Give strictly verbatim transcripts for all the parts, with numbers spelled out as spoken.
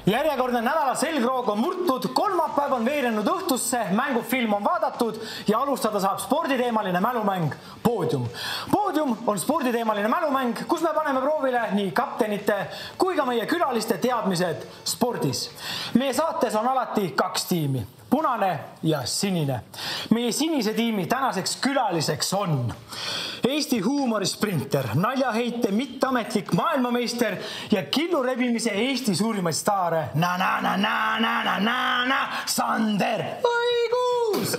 Järjekordne nädala selgroog on murtud, kolmapäev on veerenud õhtusse, mängufilm on vaadatud ja alustada saab sporditeemaline mälumäng Poodium. Poodium on sporditeemaline mälumäng, kus me paneme proovile nii kaptenite kui ka meie külaliste teadmised spordis. Meie saates on alati kaks tiimi, punane ja sinine. Meie sinise tiimi tänaseks külaliseks on Eesti huumorisprinter, naljaheite mitteametlik maailmameister ja killurebimise Eesti suurimaid staare na na na na na na na na Sander Õigus!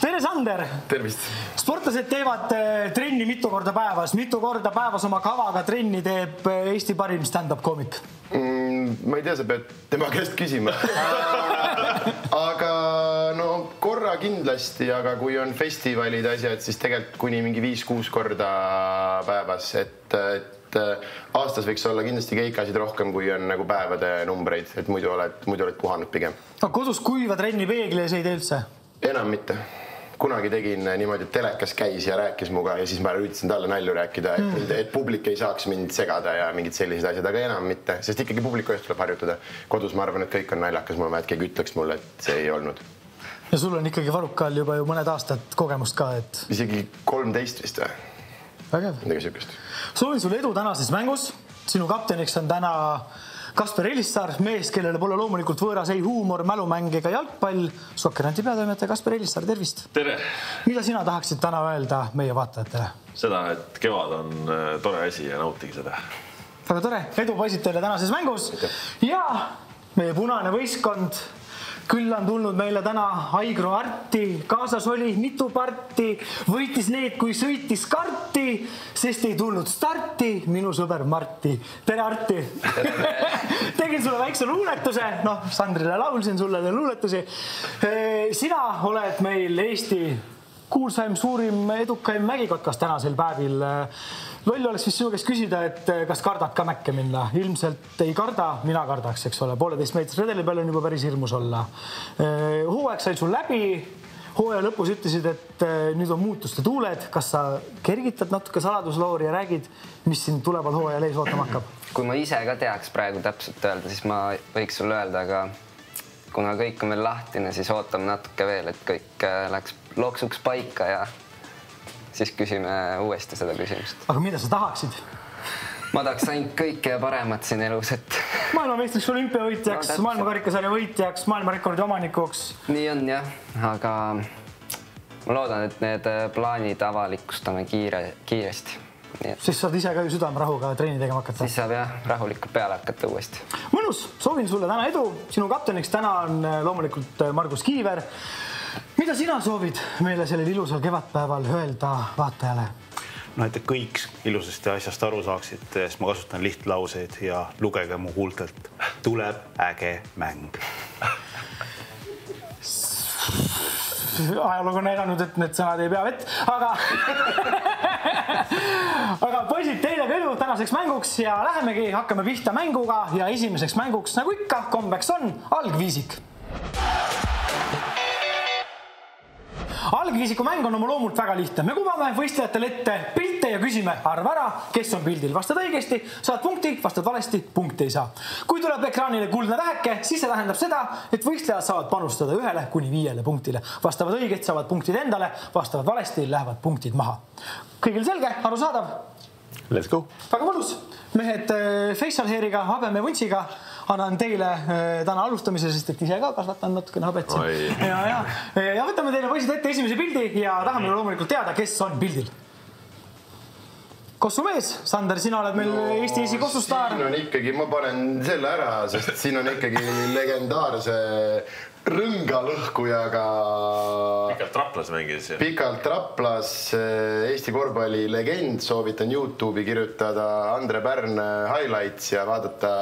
Tere, Sander! Tervist! Sportlased teevad trenni mitu korda päevas. Mitu korda päevas oma kavaga trenni teeb Eesti parim stand-up koomik? Mm, ma ei tea, sa pead tema käest küsima. Aga no korra kindlasti, aga kui on festivalid asjad, siis tegelikult kuni mingi viis-kuus korda päevas, et, et aastas võiks olla kindlasti keikasid rohkem, kui on nagu päevade numbreid, et muidu oled, muidu oled puhanud pigem. Aga kodus kuiva trenni peegli ei tee üldse? Enam mitte. Kunagi tegin niimoodi, et telekas käis ja rääkis muga ja siis ma üritasin talle nalju rääkida, et, mm. et publik ei saaks mind segada ja mingid sellised asjad, aga enam mitte, sest ikkagi publiku eest tuleb harjutada. Kodus ma arvan, et kõik on naljakas, mul on vaja, et keegi ütleks mulle, et see ei olnud. Ja sul on ikkagi Varukal juba ju mõned aastad kogemust ka, et... Isegi kolmteist vist või? Vägev. Midagi sükest. Soovin sulle edu tänases mängus. Sinu kapteniks on täna Kasper Elissaar, mees, kellele pole loomulikult võõras ei huumor, mälumäng ega jalgpall. Sokkeranti peatoimetaja Kasper Elissaar, tervist! Tere! Mida sina tahaksid täna öelda meie vaatajatele? Seda, et kevad on tore asi ja nautige seda. Väga tore, edu poisid teile tänases mängus. Ja meie punane võistkond küll on tulnud meile täna Aigro Arti, kaasas oli mitu parti, võitis need, kui sõitis karti, sest ei tulnud starti minu sõber Marti. Tere, Arti! Tegin sulle väikse luuletuse, noh, Sandrile laulsin sulle luuletusi. Sina oled meil Eesti kuulsaim, suurim, edukaim mägikotkas tänasel päevil. Loll oleks vist sinu käest küsida, et kas kardad ka mäkke minna. Ilmselt ei karda, mina kardaks, eks ole. Pooleteist meetris redeli peal on juba päris hirmus olla. Hooaeg sai sul läbi. Hooaja lõpus ütlesid, et nüüd on muutuste tuuled. Kas sa kergitad natuke saladusloori ja räägid, mis siin tuleval hooajal ees ootama hakkab? Kui ma ise ka teaks praegu täpselt öelda, siis ma võiks sulle öelda, aga kuna kõik on veel lahtine, siis ootame natuke veel, et kõik läks loksuks paika ja siis küsime uuesti seda küsimust. Aga mida sa tahaksid? Ma tahaks ainult kõike ja paremat siin elus, et... Maailmameistriks, olümpiavõitjaks, no, maailmakarikasarja võitjaks, maailmarekordi omanikuks. Nii on jah, aga ma loodan, et need plaanid avalikustame kiire, kiiresti. Siis saad ise ka ju südamerahuga treeni tegema hakata. Siis saab jah, rahulikult peale hakata uuesti. Mõnus, soovin sulle täna edu. Sinu kapteniks täna on loomulikult Margus Kiiver. Mida sina soovid meile sellel ilusal kevadpäeval öelda vaatajale? No, et kõik ilusasti asjast aru saaksid, sest ma kasutan lihtlauseid ja lugege mu huultelt. Tuleb äge mäng. Ajalugu on näidanud, et need sõnad ei pea vett, aga... aga poisid, teile ka edu tänaseks mänguks ja lähemegi, hakkame pihta mänguga ja esimeseks mänguks, nagu ikka, kombeks on algviisik. Algviisiku mäng on oma loomult väga lihtne. Me kuvame võistlejatele ette pilte ja küsime arva ära, kes on pildil. Vastad õigesti, saad punkti, vastad valesti, punkti ei saa. Kui tuleb ekraanile kuldne täheke, siis see tähendab seda, et võistlejad saavad panustada ühele kuni viiele punktile. Vastavad õigesti, saavad punktid endale, vastavad valesti, lähevad punktid maha. Kõigil selge, aru saadav? Let's go! Väga mõnus! Mehed facial hairiga, habeme vuntsiga annan teile täna alustamise, sest et ise ka kasvatan natukene habet. Ja, ja. ja võtame teile poisid ette esimese pildi ja tahame loomulikult teada, kes on pildil. Kossumees, Sander, sina oled meil no, Eesti esi kossustaar. Siin on ikkagi, ma panen selle ära, sest siin on ikkagi legendaarse rõngalõhkujaga Pikalt Raplas mängis. Pikalt Raplas, Eesti korvpalli legend, soovitan YouTube'i kirjutada Andre Pärn highlights ja vaadata,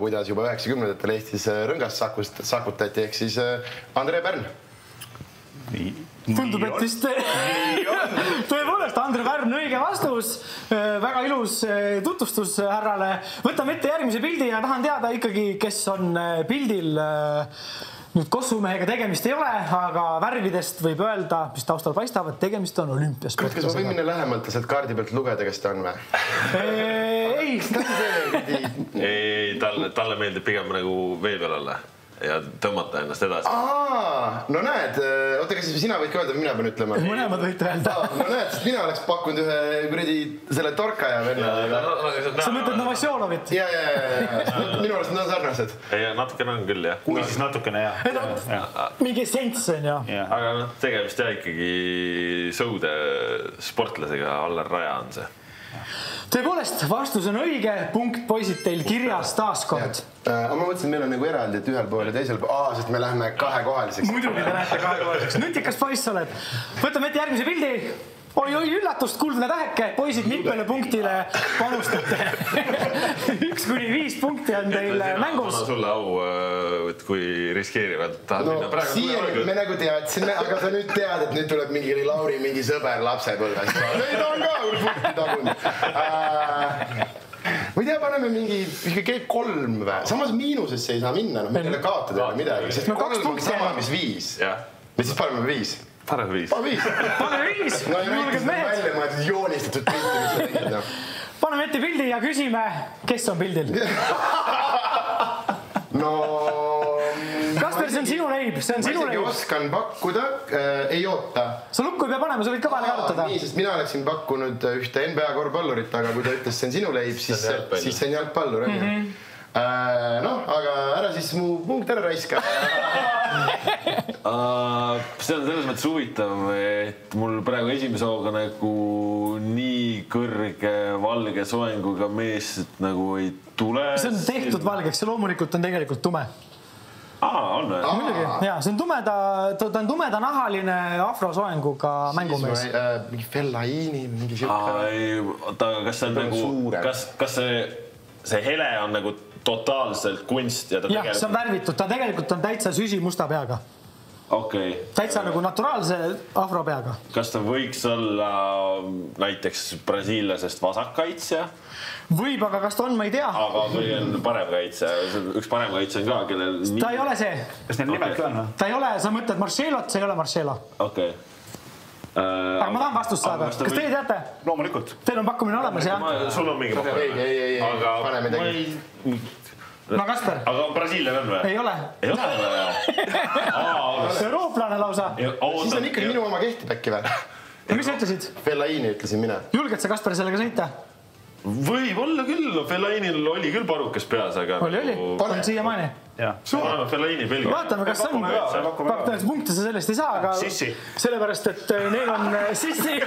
kuidas juba üheksakümnendatel Eestis rõngast sakutati, ehk siis Andre Pärn. Tundub, et vist tõepoolest Andre Pärn õige vastus. Väga ilus tutvustus härrale. Võtame ette järgmise pildi ja tahan teada ikkagi, kes on pildil. nüüd kossumehega tegemist ei ole, aga värvidest võib öelda, mis taustal paistab, et tegemist on olümpiasportlasega. Kas ma võin minna lähemalt ja sealt kaardi pealt lugeda, kes ta on või? Ei, ei, talle, talle meeldib pigem nagu vee peal olla ja tõmmata ennast edasi. Aa, no näed, oota, kas sina võid ka öelda, või mina pean ütlema? mõlemad võite öelda. No näed, sest mina oleks pakkunud ühe kuradi selle torka ja venna. Sa mõtled Novosjolovit? Ja, ja, ja, ja. Minu arust nad on sarnased. Ei, natukene on küll, jah. kui siis natukene, jah. Mingi sents on ju. Aga noh, tegemist jah ikkagi sõude sportlasega, Allar Raja on see. Tõepoolest, vastus on õige, punkt poisid teil kirjas taaskord. Aga ma mõtlesin, et meil on nagu eraldi, et ühel pool ja teisel pool. Aa, sest me läheme kahekohaliseks. Muidugi te lähete kahekohaliseks. Nutikas poiss oled. Võtame ette järgmise pildi. Oi, oi, üllatust, kuldne täheke. Poisid mitmele punktile panustate. Üks kuni viis punkti on teil mängus. Anna sulle au, et kui riskeerivad. No, siia me nagu teadsime, aga sa nüüd tead, et nüüd tuleb mingi Lauri mingi sõber lapsepõlvest. Neid on ka punkti tagunud. Ma ei tea, paneme mingi G kolm või? Samas miinusesse ei saa minna, no me teile kaotada ei ole midagi, sest kolm on sama, mis viis. Ja siis paneme viis. Paneme viis. Pane viis. Pane viis. No ei näitis välja, ma olen joonistatud pildi, mis sa tegid. Paneme ette pildi ja küsime, kes on pildil. No... Kasper, see on sinu leib, see on sinu leib. Ma isegi oskan pakkuda, ei oota. Sa lukku ei pea panema, sa võid ka vahele karutada. Nii, sest mina oleksin pakkunud ühte N B A korvpallurit, aga kui ta ütles, see on sinu leib, siis see on jalgpallur. Noh, aga ära siis mu punkt ära raiska. See on selles mõttes huvitav, et mul praegu esimese hooga nagu nii kõrge valge soenguga mees nagu ei tule. See on tehtud valgeks, see loomulikult on tegelikult tume. Aa, on või? Muidugi, jaa, see on tumeda, ta on tumeda nahaline afrosoenguga mängumees. Mingi Fellaini, mingi siuke. Kas see on nagu, kas see hele on nagu totaalselt kunst? Jah, see on värvitud, ta tegelikult on täitsa süsi musta peaga. Okei. Täitsa nagu naturaalse afro peaga. Kas ta võiks olla näiteks brasiillasest vasakkaitsja? Võib, aga kas ta on, ma ei tea. Aga või on parem kaitse? Üks parem kaitse on ka, kellel... Ta ei ole see. Kas neil nimed ka on? Ta ei ole, sa mõtled Marcelot, see ei ole Marcelo. Okei. Aga ma tahan vastust saada. Kas teie teate? Loomulikult. Teil on pakkumine olemas, jah? Sul on mingi pakkumine. Ei, ei, ei, pane midagi. No Kasper. Aga brasiillane on või? Ei ole. Ei ole või? Eurooplane lausa. Siis on ikkagi minu oma kehtib äkki või? Mis sa ütlesid? Fellaini ütlesin mina. Julged sa Kasper sellega sõita? Võib olla küll, Fellainil oli küll parukas peas, aga... Oli, oli, on siia maani. Fellaini Belgia. Vaatame, kas on. Pakkudes punkte sa sellest ei saa, aga... Sissi. Sellepärast, et neil on sissi.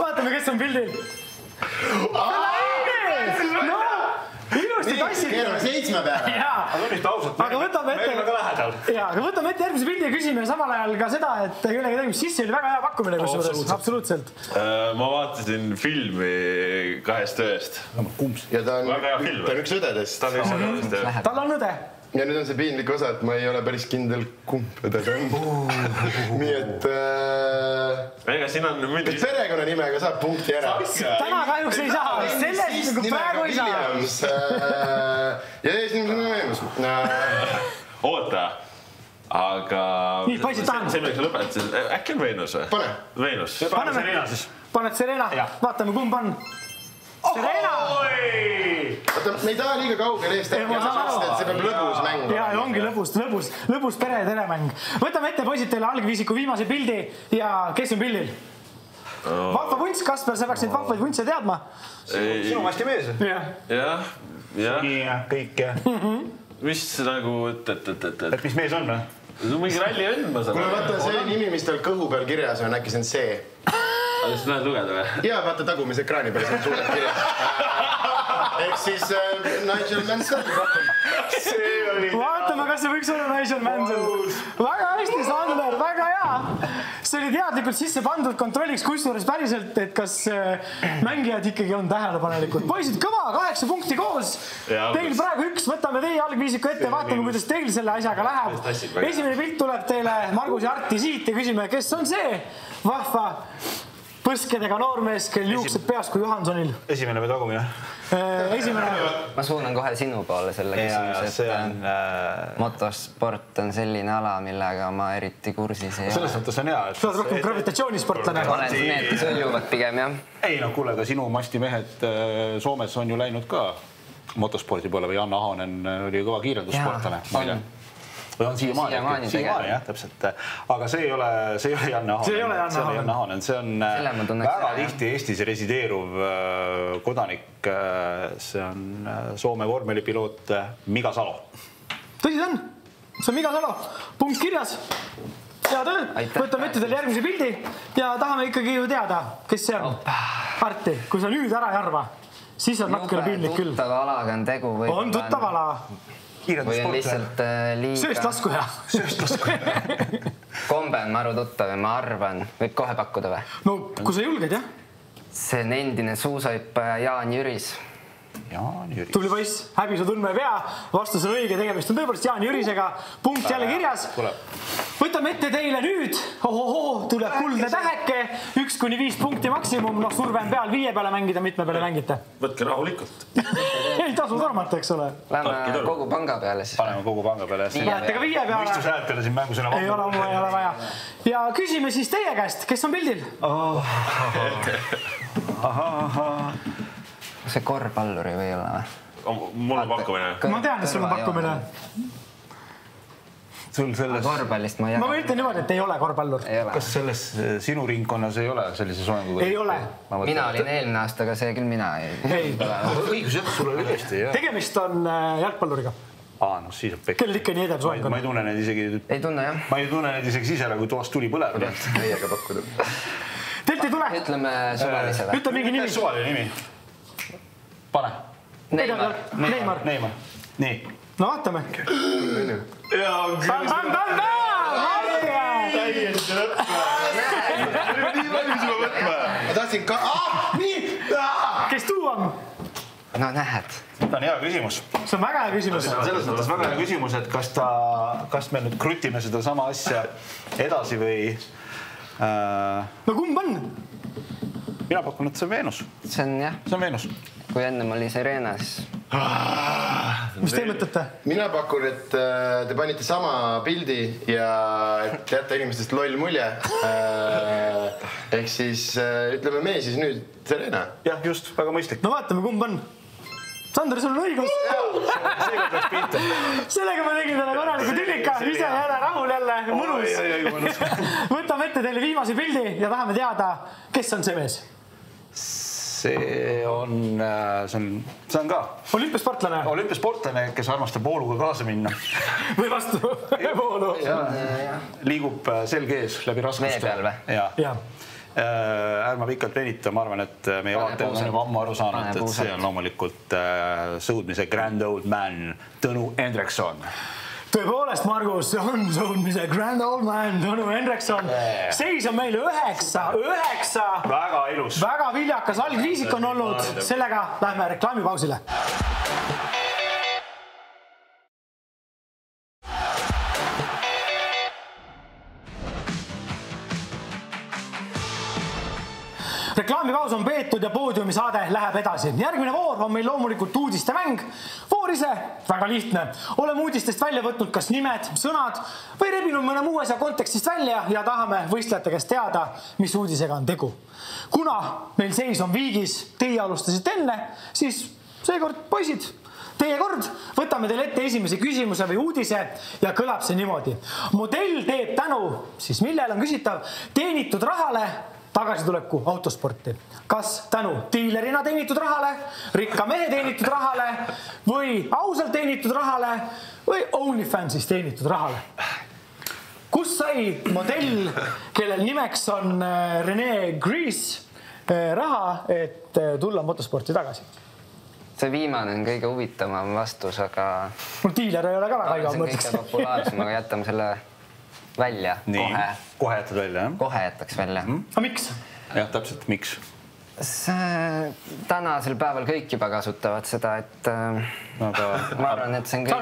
Vaatame, kes on pildil. Fellaini! No! Ilusti tassid. Keerame seitsme peale. Aga võtame ette, ja, aga võtame ette järgmise pildi ja küsime samal ajal ka seda, et kellega tegime. Sissi oli väga hea pakkumine kusjuures. Absoluutselt. Ma vaatasin filmi Kahest ööst. Ja ta on üks õdedest. Tal on õde. Ja nüüd on see piinlik osa, et ma ei ole päris kindel kumb õde ta on. Nii et... Ega siin on mündi... Perekonna nimega saab punkti ära. Täna kahjuks ei saa. Sellest nagu praegu ei saa. Ja esimene võimus. Oota. Aga... Nii, poisid tahan. See milleks lõpetasid. Äkki on Veenus või? Pane. Veenus. Paneme Serena siis. Paned Serena. Vaatame, kumb on. Serena! Oota, me ei taha liiga kaugel eest äkki, et see peab lõbus mäng. Jaa, ongi lõbus, lõbus, lõbus pere ja teremäng. Võtame ette, poisid, teile algviisiku viimase pildi ja kes on pildil? Vahva vunts, Kasper, sa peaks neid vahvaid vuntse teadma. Sinu masti mees. Jah, jah. Nii ja kõik ja. Mis nagu, et, et, et, et, et. Et mis mees on või? No mingi ralli vend, ma saan. Kuule, vaata see nimi, mis tal kõhu peal kirjas on, äkki see on see. Aga sa näed lugeda või? Jaa, vaata tagumise ekraani peal, see on suurelt kirjas. Ehk siis Nigel Mansell. Vaatame, kas see võiks olla Nigel Mansell. Väga hästi, Sander, väga hea. See oli teadlikult sisse pandud, kontrolliks kusjuures päriselt, et kas mängijad ikkagi on tähelepanelikud. Poisid, kõva, kaheksa punkti koos. Teil praegu üks, võtame teie algviisiku ette, vaatame, kuidas teil selle asjaga läheb. Esimene pilt tuleb teile Margus ja Arti siit ja küsime, kes on see vahva põskedega noormees, kel juuksed peas kui Johansonil. Esimene või tagumine? Esimene. Ma suunan kohe sinu poole selle küsimus, et on, äh... motosport on selline ala, millega ma eriti kursis ei ole. Selles mõttes on hea, et... Sa oled rohkem gravitatsioonisportlane. Ma olen need, kes õljuvad pigem, jah. Ei, no kuule, ka sinu mastimehed Soomes on ju läinud ka motospordi poole või Janne Ahonen oli kõva kiirendussportlane. Või on siiamaani, siiamaani jah, täpselt. Aga see ei ole, see ei ole Janne Ahonen. See ei ole Janne Ahonen. See on väga tihti Eestis resideeruv kodanik. See on Soome vormelipiloot Mika Salo. Tõsi see on? See on Mika Salo. Punkt kirjas. Hea töö. Võtame ette teile järgmise pildi ja tahame ikkagi ju teada, kes see on. Arti, kui sa nüüd ära ei arva, siis on nakkele piinlik küll. Tuttava alaga on tegu. On tuttava ala. Või on lihtsalt liiga... Sööstlaskuja. Sööstlaskuja. Kombe on maru tuttav ja ma arvan, võib kohe pakkuda või? No, kui sa julged, jah? See on endine suusahüppaja Jaan Jüris. Jaan Jüris. Tubli poiss, häbi su tundma ei pea. Vastus on õige, tegemist on tõepoolest Jaan Jürisega. Punkt jälle kirjas. Võtame ette teile nüüd. Ohoho, tuleb kuldne täheke. Üks kuni viis punkti maksimum. Noh, surve on peal viie peale mängida, mitme peale mängite. Võtke rahulikult. Ei tasu tormata, eks ole. Lähme kogu panga peale siis. Paneme kogu panga peale. Lähete ka viie peale. Mõistusäält peale siin mängu sõna ei ole, ei ole vaja. Ja küsime siis teie käest, kes on pildil? See korvpalluri või ei ole? Mul on pakkumine. Ma tean, et sul on pakkumine. Sul selles... Korvpallist ma ei jaga. Ma ütlen niimoodi, et ei ole korvpallur. Kas selles sinu ringkonnas ei ole sellise soenguga? Ei ole. Mina olin eelmine aasta, aga see küll mina ei... Õigus, jah, sul oli tõesti, jah. Tegemist on jalgpalluriga. Aa, no siis on pekk. Kellel ikka nii edeb soeng on? Ma ei tunne neid isegi... Ei tunne, jah. Ma ei tunne neid isegi sisele, kui toast tuli põleb. Meiega pakkuda. Teilt ei tule? Ütleme suvalisele. Ütle mingi nimi. Suvaline nimi. Pane. Neymar. Neymar. Neymar. Nii. No vaatame. Jaa, küll. Bam, bam, bam, bam! Täiesti lõpma. Nii palju sulle võtma. Ma tahtsin ka... Ah, nii! Kes tuu on? No nähed. See on hea küsimus. See on väga hea küsimus. Selles mõttes väga hea küsimus, et kas ta... Kas me nüüd krutime seda sama asja edasi või... No kumb on? Mina pakun, et see on Veenus. See on jah. See on Veenus. Kui enne ma olin Serena, siis... Mis te mõtlete? Mina pakun, et te panite sama pildi ja et jätta inimestest loll mulje. Ehk siis ütleme me siis nüüd Serena. Jah, just, väga mõistlik. No vaatame, kumb on. Sander, sul on õigus. Sellega ma tegin täna korraliku tülika. Ise jälle rahul jälle. Mõnus. Võtame ette teile viimase pildi ja tahame teada, kes on see mees. See on, see on, see on ka olümpiasportlane. Olümpiasportlane, kes armastab vooluga kaasa minna. Või vastu voolu. Liigub selge ees läbi raskuste. Vee peal või? Ja. Ärma pikalt venita, ma arvan, et meie vaatajad on juba ammu aru saanud, et see on loomulikult sõudmise grand old man Tõnu Hendrikson. Tõepoolest, Margus, on sõudmise grand old man Tõnu Hendrikson. Seis on meil üheksa, üheksa. Väga ilus. Väga viljakas algviisik on olnud. Sellega lähme reklaamipausile. Reklaamipaus on peetud ja poodiumi saade läheb edasi. Järgmine voor on meil loomulikult uudiste mäng. Voor ise, väga lihtne. Oleme uudistest välja võtnud kas nimed, sõnad või rebinud mõne muu asja kontekstist välja ja tahame võistlejate käest teada, mis uudisega on tegu. Kuna meil seis on viigis, teie alustasite enne, siis seekord poisid, teie kord, võtame teile ette esimese küsimuse või uudise ja kõlab see niimoodi. Modell teeb tänu, siis millel on küsitav, teenitud rahale tagasituleku autosporti. Kas tänu diilerina teenitud rahale, rikka mehe teenitud rahale või ausalt teenitud rahale või OnlyFansis teenitud rahale? Kus sai modell, kellel nimeks on René Grease, raha, et tulla motosporti tagasi? See viimane on kõige huvitavam vastus, aga... Mul diiler ei ole ka väga iga mõtleks. See on kõige populaarsem, aga jätame selle välja. Kohe. Kohe jätad välja, jah? Kohe jätaks välja. Aga miks? Jah, täpselt, miks? Tänasel päeval kõik juba kasutavad seda, et ma arvan, et see on kõik...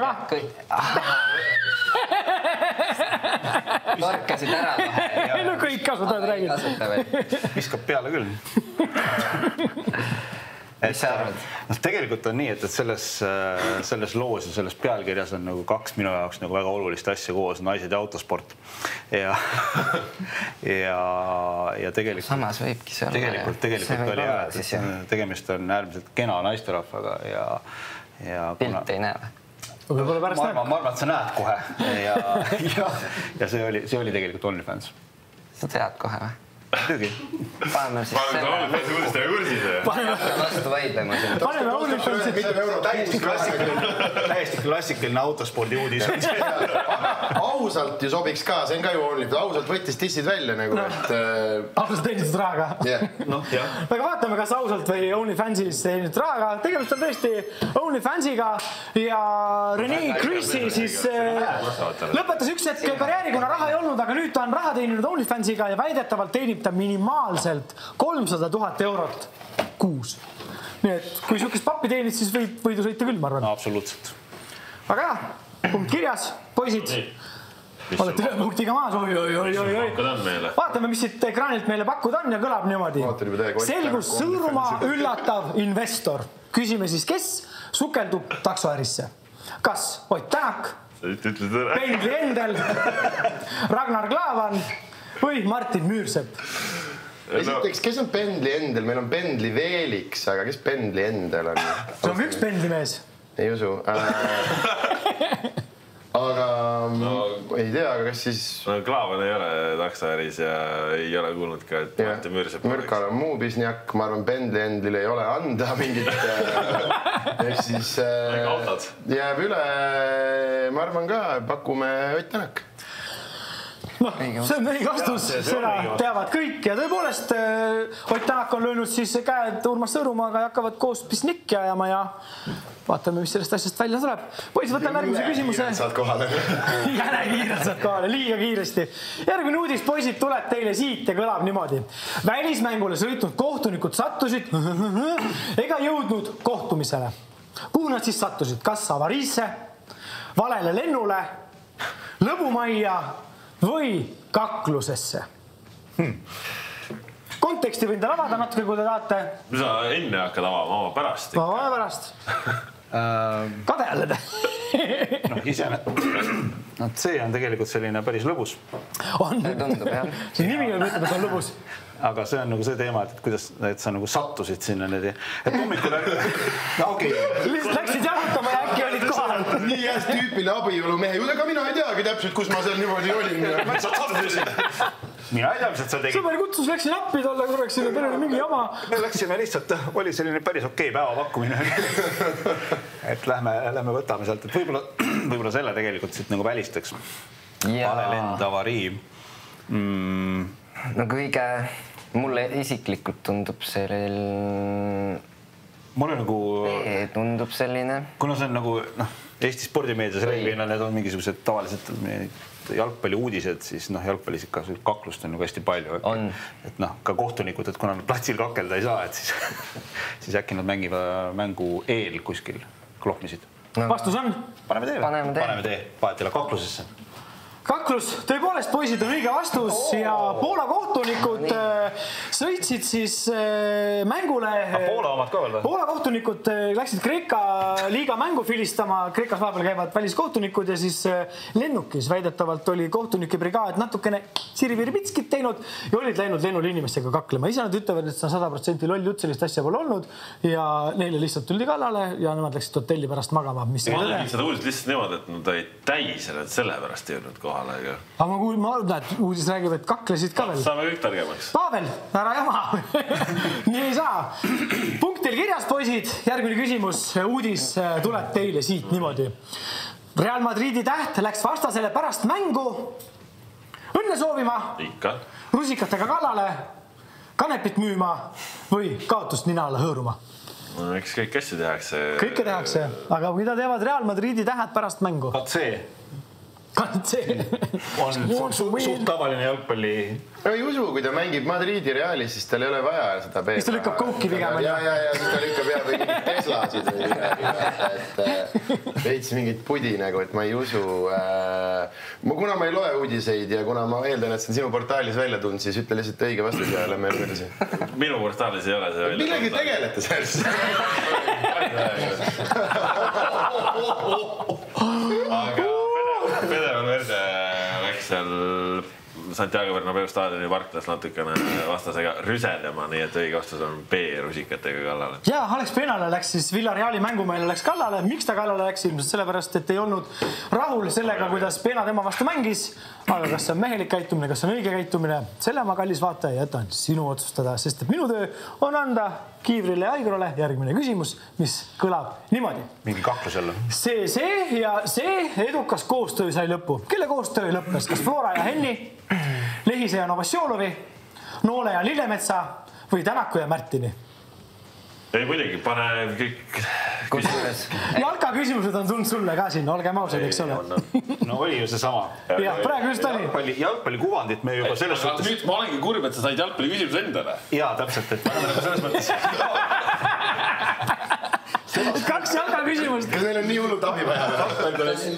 Parkasid ära kohe. No kõik kasutavad räägid. Viskab peale küll. Mis sa arvad? No, tegelikult on nii, et selles, selles loos ja selles pealkirjas on nagu kaks minu jaoks nagu väga olulist asja koos, naised ja autosport. Ja, ja, ja tegelikult... Samas võibki see olla. Tegelikult, tegelikult oli hea, et tegemist on äärmiselt kena naisterahvaga ja... ja pilt ei näe. Võib-olla pärast näeb. Ma arvan, et sa näed kohe. Ja, ja, ja see oli, see oli tegelikult OnlyFans. Sa tead kohe või? Tüügi. Paneme siis selle. Paneme vastu vaidlema. Paneme OnlyFansi. Täiesti klassikaline, täiesti klassikaline autospordi uudis. Ausalt ju sobiks ka, see on ka ju OnlyFans. Ausalt võttis tissid välja nagu, et... Ausalt teenitud rahaga. Noh, jah. Aga vaatame, kas ausalt või OnlyFansis teenitud rahaga. Tegemist on tõesti OnlyFansiga ja Rene Chrissi siis lõpetas üks hetk karjääri, kuna raha ei olnud, aga nüüd ta on raha teeninud OnlyFansiga ja väidetavalt teenib ta minimaalselt kolmsada tuhat eurot kuus. Nii et kui sihukest pappi teenid, siis võid võidu sõita küll, ma arvan. No, absoluutselt. Aga jah, punkt kirjas, poisid. Olete ühe punktiga maas, oi, oi, oi, oi, oi. Vaatame, mis siit ekraanilt meile pakkuda on ja kõlab niimoodi. Selgus Sõõrumaa üllatav investor. Küsime siis, kes sukeldub taksoärisse? Kas Ott Tänak, Pendli Endel, Ragnar Klavan või Martin Müürsepp? Esiteks, kes on Pendli Endel? Meil on Pendli Veeliks, aga kes Pendli Endel on? See on üks Pendli mees. Ei usu. Aga ei tea, aga kas siis... Klaavan ei ole taksoäris ja ei ole kuulnud ka, et Martin Müürsepp oleks. Mürkal on muu pisniak, ma arvan, Pendli Endlil ei ole anda mingit... Ehk siis jääb üle, ma arvan ka, pakume Ott Tänak. No, see on õige vastus, seda teavad kõik ja tõepoolest Ott Tänak on löönud siis käed Urmas Sõõrumaaga ja hakkavad koos pisnikki ajama ja vaatame, mis sellest asjast välja tuleb. Poisid, võtame järgmise küsimuse. Saad kohale. Jäne kiirelt saad kohale, liiga kiiresti. Järgmine uudis, poisid, tuleb teile siit ja kõlab niimoodi. Välismängule sõitnud kohtunikud sattusid ega jõudnud kohtumisele. Kuhu nad siis sattusid? Kas avariisse, valele lennule, lõbumajja või kaklusesse? Hmm. Konteksti võin ta lavada natuke, kui te tahate. Sa enne hakkad avama, oma pärast. Oma pärast. Kade jälle te. No, isene. No, see on tegelikult selline päris lõbus. On. Tundub, jah. See nimi on ütleb, et on lõbus. Aga see on nagu see teema, et kuidas et sa nagu sattusid sinna need. Et hommikul... No, okei. Lihtsalt läksid jalutama ja äkki olid kohal. Nii jääs tüüpile abielu mehe. Ega mina ei teagi täpselt, kus ma seal niimoodi olin. Ma sattusin. Mina ei tea, mis sa tegid. Sõber kutsus, läksin appi tolle korraks, sinna perele mingi jama. Me läksime lihtsalt, oli selline päris okei päeva pakkumine. Et lähme, lähme võtame sealt, et võib-olla, võib-olla selle tegelikult siit nagu välistaks. Valelend, avarii. Mm. No kõige, mulle isiklikult tundub selline... Mulle nagu... Ei, tundub selline... Kuna see on nagu, noh, Eesti spordimeedias reeglina need on mingisugused tavaliselt jalgpalli uudised, siis noh, jalgpallis ikka kaklust on nagu hästi palju. On. Et noh, ka kohtunikud, et kuna nad platsil kakelda ei saa, et siis, siis äkki nad mängivad mängu eel kuskil klohmisid. No. Vastus on? Paneme tee. Paneme tee. Paneme tee. Paetile kaklusesse. Kaklus, tõepoolest, poisid on õige vastus oh. ja Poola kohtunikud ah, sõitsid siis mängule. Poola omad ka veel või? Poola kohtunikud läksid Kreeka liiga mängu filistama. Kreekas vahepeal käivad väliskohtunikud ja siis lennukis väidetavalt oli kohtunike brigaad natukene siripiripitskit teinud ja olid läinud lennul inimestega kaklema. Ise nad ütlevad, et see on sada protsenti loll jutt, sellist asja pole olnud ja neile lihtsalt tuldi kallale ja nemad läksid hotelli pärast magama. Mis ma tegin seda uudist lihtsalt niimoodi, et nad olid täis ja nad selle pärast ei olnud kohale. Aga ma kuulin, ma arvan, et uudis räägib, et kaklesid ka veel. Saame kõik targemaks. Pavel, ära jama. Nii ei saa. Punkt teil kirjas, poisid. Järgmine küsimus. Uudis tuleb teile siit niimoodi. Real Madridi täht läks vastasele pärast mängu. Õnne soovima. Ikka. Rusikatega kallale. Kanepit müüma või kaotust nina alla hõõruma. No, eks kõik asju tehakse. Kõike tehakse. Aga mida teevad Real Madridi tähed pärast mängu? Vaat see. see on suht tavaline jalgpalli. No ei usu, kui ta mängib Madridi Realis, siis tal ei ole vaja seda peeda. Siis ta lükkab kouki pigem. Ja, ja, ja siis ta lükkab jah või mingid Teslasid või midagi. Et veits mingit pudi nagu, et ma ei usu. Kuna ma ei loe uudiseid ja kuna ma eeldan, et see on sinu portaalis välja tulnud, siis ütle lihtsalt õige vastus ja lähme edasi. Minu portaalis ei ole see välja. Millegi tegelete selles? Aga Fede Valverde läks seal Santiago Bernabeu staadioni parklas natukene vastasega rüsedema, nii et õige vastus on B rusikatega kallale. Ja Alex Penale läks siis Villareali mängumeile läks kallale. Miks ta kallale läks? Ilmselt sellepärast, et ei olnud rahul sellega, kuidas Pena tema vastu mängis. Aga kas see on mehelik käitumine, kas see on õige käitumine? Selle ma kallis vaataja jätan sinu otsustada, sest et minu töö on anda Kiivrile ja Aigrole järgmine küsimus, mis kõlab niimoodi. Mingi kaklus jälle. See, see ja see edukas koostöö sai lõppu. Kelle koostöö lõppes? Kas Flora ja Henni, Lehise ja Novosjolovi, Noole ja Lillemetsa või Tänaku ja Märtini? Ei muidugi, pane kõik küsimus. Jalka küsimused on tulnud sulle ka siin, olgem ausad, eks ole. No oli ju see sama. Jah, praegu just oli. Jalgpalli kuvandit me juba selles suhtes... Nüüd ma olengi kurb, et sa said jalgpalli küsimus endale. Jaa, täpselt, et selles mõttes... Kaks jalka küsimust. Kas neil on nii hullud abi vaja?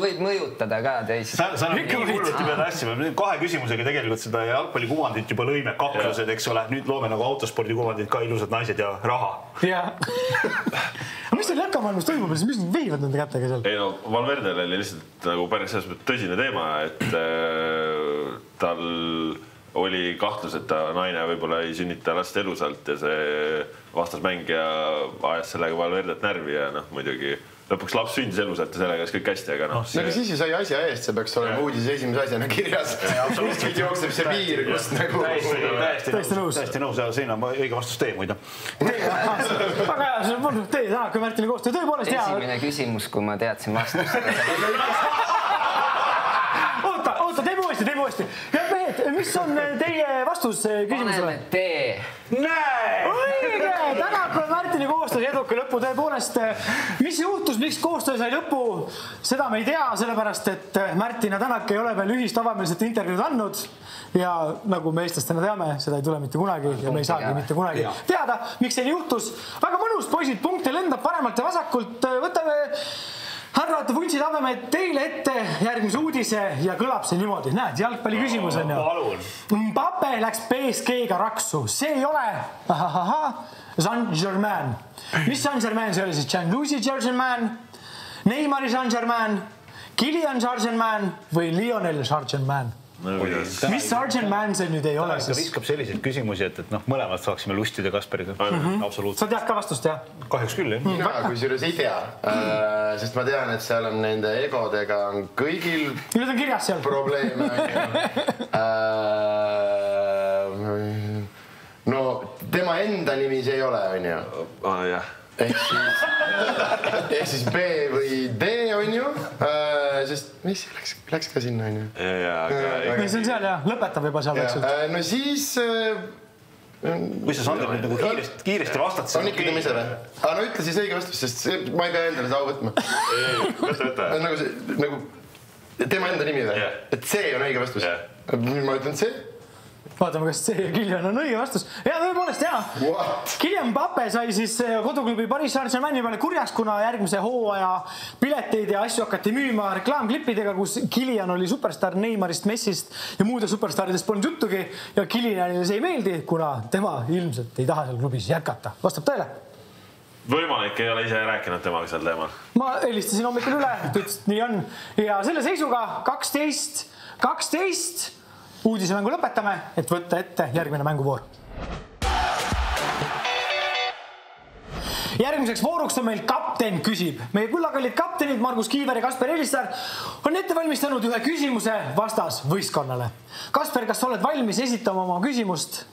Võib mõjutada ka teisi. Sa on nii hulluti pead asjama. Kahe küsimusega tegelikult seda jalgpalli kuvandit juba lõime kaklused, eks ole. Nüüd loome nagu autospordi kuvandit ka ilusad naised ja raha. Jaa. Mis teil jalkamaailmas toimub? Mis need veivad nende kätega seal? Ei no, Valverdel oli lihtsalt nagu päris tõsine teema, et tal oli kahtlus, et ta naine võib-olla ei sünnita last elusalt ja see vastasmängija ajas sellega Valverdet närvi ja noh, muidugi lõpuks laps sündis elusalt ja sellega kõik hästi, aga noh. Aga siis ju sai asja eest, see peaks olema uudis esimese asjana kirjas. Kuskilt jookseb see piir, kust nagu... Täiesti nõus. Täiesti nõus ja siin on õige vastus tee, muida. Väga hea, see on tee, täna kui Märtini koostöö, tõepoolest hea. Esimene küsimus, kui ma teadsin vastust. Oota, oota, teeme uuesti, teeme uuesti. Mehed, mis on teie vastus küsimusele? Paneme tee. Näe! Õige! Täna kui Märtini koostöö eduka lõppu tõepoolest. Mis juhtus, miks koostöö sai lõppu? Seda me ei tea, sellepärast, et Märtin ja Tänak ei ole veel ühist avameelset intervjuud andnud. Ja nagu me eestlastena teame, seda ei tule mitte kunagi ja me ei saagi mitte kunagi teada, miks see juhtus. Väga mõnus, poisid, punkte lendab paremalt ja vasakult. Võtame... Härrad, vuntsid avame teile ette järgmise uudise ja kõlab see niimoodi. Näed, jalgpalli küsimus on ju. Mbappe läks P S G-ga raksu. See ei ole Saint-Germain. Mis Saint-Germain see oli siis? Gianluigi Saint-Germain, Neymari Saint-Germain, Kylian Saint-Germain või Lionel Saint-Germain? Mis Saint-Germain see nüüd ei ole? Ta viskab selliseid küsimusi, et noh, mõlemad saaksime lustida Kasperiga. Absoluutselt. Sa tead ka vastust, jah? Kahjuks küll, jah. Mina kui selles ei tea, sest ma tean, et seal on nende egodega on kõigil Need on kirjas seal. Probleeme. No tema enda nimi see ei ole, on ju? Ah, jah. Ehk siis, ehk siis B või D on ju, sest mis läks, läks ka sinna on ju? Ja, aga... See on seal jah, lõpetab juba seal väikselt. No siis... Kui sa Sander nüüd nagu kiiresti, kiiresti vastad... On ikka tema ise või? Aga no ütle siis õige vastus, sest see, ma ei pea endale see au võtma. Ei, võta, võta. Nagu see, nagu tema enda nimi või? Et see on õige vastus. Ma ütlen see. Vaatame, kas see Kylian on õige vastus. Ja tõepoolest, jaa. Kylian Mbappe sai siis koduklubi Paris Saint-Germaini peale kurjaks, kuna järgmise hooaja pileteid ja asju hakati müüma reklaamklippidega, kus Kylian oli superstar Neymarist, Messist ja muude superstaridest polnud juttugi ja Kylianile see ei meeldi, kuna tema ilmselt ei taha seal klubis jätkata. Vastab tõele? Võimalik ei ole ise rääkinud temaga seal teemal. Ma helistasin hommikul üle, ütles, nii on. Ja selle seisuga kaksteist, kaksteist uudisemängu lõpetame, et võtta ette järgmine mänguvoor. Järgmiseks vooruks on meil kapten küsib. Meie kullakallid kaptenid Margus Kiiver ja Kasper Elisar on ette valmistanud ühe küsimuse vastas võistkonnale. Kasper, kas oled valmis esitama oma küsimust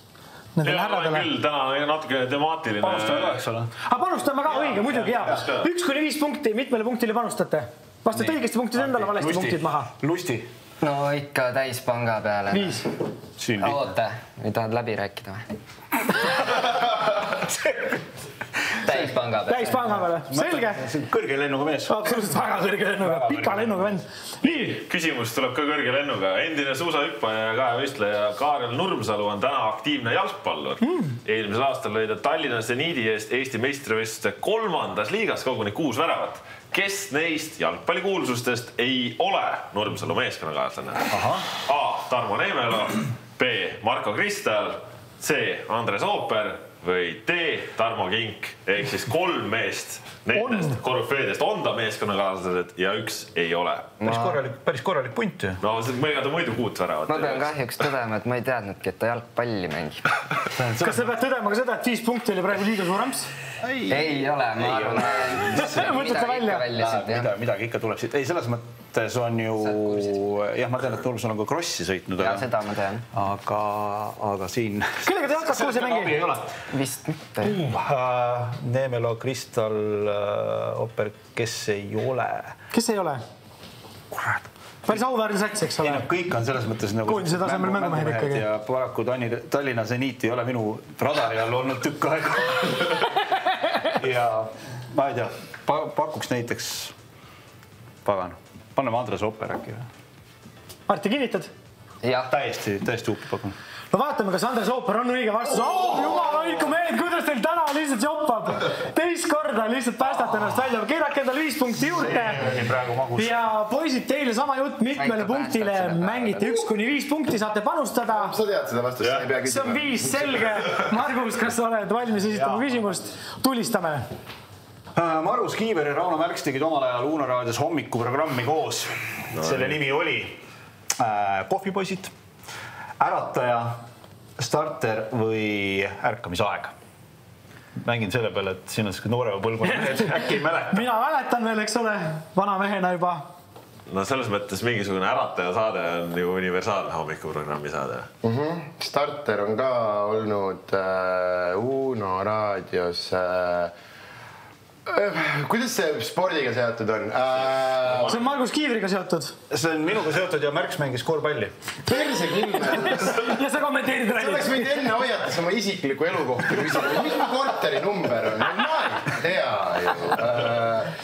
nendele härradele? Küll, täna on natuke temaatiline. Panustame ka, eks ole. Aga panustame ka, õige, muidugi hea. Üks kuni viis punkti, mitmele punktile panustate? Vastate õigesti punktid endale, valesti punktid maha. Lusti. No ikka täis panga peale. Viis. Oota, ei tahad läbi rääkida või? täispanga peale. Täispanga peale, selge. Kõrge lennuga mees. Absoluutselt väga kõrge lennuga, pika lennuga vend. Nii. Küsimus tuleb ka kõrge lennuga. Endine suusahüppaja ja kahevõistleja Kaarel Nurmsalu on täna aktiivne jalgpallur. Mm. Eelmisel aastal lõi ta Tallinna Zeniidi eest Eesti meistrivõistluste kolmandas liigas koguni kuus väravat. Kes neist jalgpallikuulsustest ei ole Nurmsalu meeskonnakaaslane? A. Tarmo Neemelo, B. Marko Kristal, C. Andres Ooper või D. Tarmo Kink ehk siis kolm meest nendest korüfeedest on ta meeskonnakaaslased ja üks ei ole. Päris korralik, päris korralik punt ju. No mõelda ta muidu kuut väravat. Ma pean kahjuks tõdema, et ma ei teadnudki, et ta jalgpalli mängib. Kas sa pead tõdema ka seda, et viis punkti oli praegu liiga suurams? Ei, ei ole, ma arvan. Mõtlete välja? Mida, midagi ikka tuleb siit. Ei, selles mõttes on ju... Jah, ma tean, et Nurmsal on ka krossi sõitnud. Ja, seda ma tean. Aga, aga siin... Kellega te jalkas koos ei mängi? Vist mitte. Neemelo, Kristal, Ooper, kes ei ole? Kes ei ole? Kurat. Päris auväärne sats, eks ole? Kõik on selles mõttes nagu... Koondise tasemel mängumehed ikkagi. Ja paraku Tallinna Zeniit ei ole minu radari all olnud tükk aega. Ja ma ei tea, pakuks näiteks pagan. Panneme Andres Ooper äkki. Arti, kinnitad? Jah. Täiesti, täiesti uppi pakun. No vaatame, kas Andres Ooper on õige vastus. Oh, jumal hoidku mehed, kuidas teil täna lihtsalt joppab. Teist korda lihtsalt päästate ennast välja. Keerake endal viis punkti juurde. Ja poisid, teile sama jutt mitmele punktile mängite üks kuni viis punkti, saate panustada. Sa tead seda vastust, sa ei pea küsima. See on viis, selge. Margus, kas sa oled valmis esitama küsimust? Tulistame. Marus Kiiver ja Rauno Märks tegid omal ajal Uno raadios hommikuprogrammi koos. Selle nimi oli Kohvipoisid, Ärataja, Starter või Ärkamisaeg. Mängin selle peale, et siin on selline noorema põlvkonna mehed, äkki ei mäleta. Mina mäletan veel, eks ole, vana mehena juba. No selles mõttes mingisugune Ärataja saade on ju universaalne hommikuprogrammi saade. Mm-hmm. Starter on ka olnud äh, Uno raadios... Äh, Kuidas see spordiga seotud on? See on Margus Kiivriga seotud. See on minuga seotud ja Märks mängis korvpalli. Perse küll. Ja sa kommenteerid räägid. Sa oleks võid enne hoiatas oma isikliku elukohta. Mis mu korteri number on? Ma ei tea ju.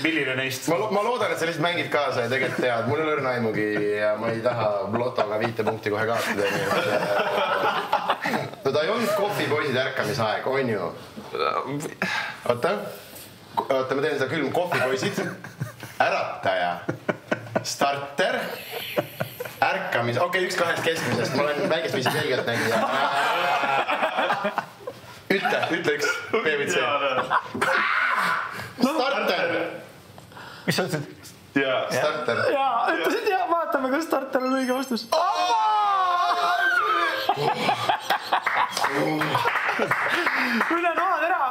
Milline neist? Ma loodan, et sa lihtsalt mängid kaasa ja tegelikult tead. Mul ei lõrna aimugi ja ma ei taha lotoga viite punkti kohe kaotada. No ta ei olnud kohvipoisid ärkamisaeg, on ju? Oota. Oota, ma teen seda külm kohvipoisid, Ärataja, Starter, Ärkamis... Okei, okay, üks kahest keskmisest, ma olen väikest viisi selgelt nägija. Ütle, ütle üks, B või C. Starter. Mis sa ütlesid? Jaa, Starter. Jaa, ütlesid ja vaatame, kas Starter on õige vastus. Üle noad ära!